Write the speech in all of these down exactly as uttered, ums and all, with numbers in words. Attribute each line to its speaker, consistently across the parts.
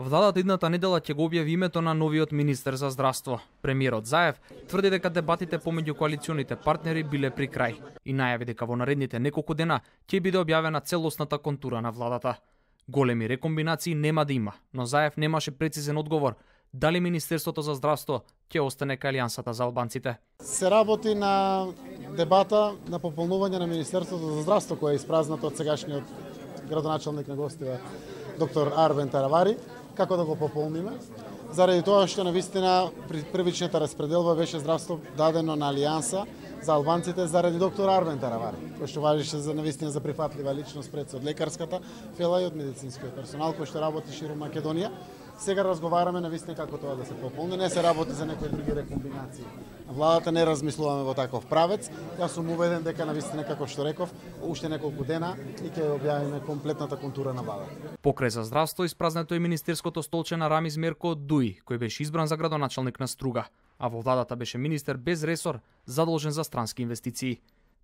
Speaker 1: Владата идната недела ќе го објави името на новиот министер за здравство. Премиерот Заев тврди дека дебатите помеѓу коалиционите партнери биле при крај и најави дека во наредните неколку дена ќе биде објавена целосната контура на владата. Големи рекомбинации нема да има, но Заев немаше прецизен одговор дали Министерството за здравство ќе остане кај Алијансата за албанците.
Speaker 2: Се работи на дебата на пополнување на Министерството за здравство, кој е испразнато од сегашниот градоначалник на гостива доктор Арбен Таравари, како да го пополниме. Заради тоа што навистина при првичната распределба беше здравство дадено на Алијанса за албанците заради доктор Арбен Таравари, кој што важеше за навистина за прифатлива личност пред од лекарската фела и од медицинскиот персонал кој што работи ширум Македонија. Сега разговараме навистина како тоа да се пополни, не се работи за некои други рекомбинации. Владата не размислуваме во таков правец. Јас сум убеден дека навистина како што реков, уште неколку дена и ќе објавиме комплетната контура на владата.
Speaker 1: Покрај за здравство испразнето и министерското столче на Рамиз Мерко од Дуи, кој беше избран за градоначалник на Струга, а во владата беше министер без ресор, задолжен за странски инвестиции.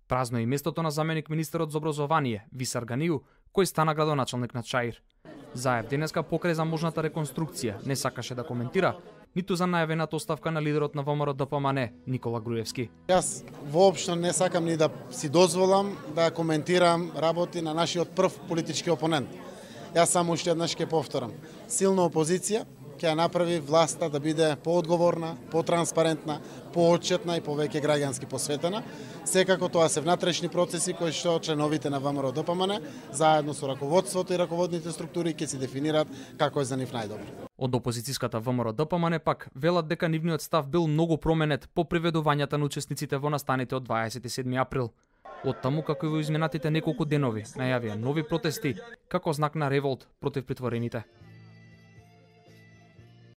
Speaker 1: Празно е и местото на заменик министерот за образование, Висар Ганију, кој стана градоначалник на Чаир. Заев денеска покрај за можната реконструкција не сакаше да коментира, ниту за најавената оставка на лидерот на ВМРО Д П М Н, Никола Груевски.
Speaker 2: Јас воопшто не сакам ни да си дозволам да коментирам работи на нашиот прв политички опонент. Јас само уште еднаш ќе повторам. Силна опозиција ќе ја направи власта да биде поодговорна, потранспарентна, поотчетна и повеќе граѓански посветена. Секако тоа се внатрешни процеси кои што членовите на ВМРО Д П М Н заедно со раководството и раководните структури ќе се дефинираат како е за нив најдобро.
Speaker 1: Од опозицијската ВМРО Д П М Н пак велат дека нивниот став бил многу променет по приведувањата на учесниците во настаните од дваесет и седми април. Од таму како и во изминатите неколку денови најавија нови протести како знак на револт против притворените.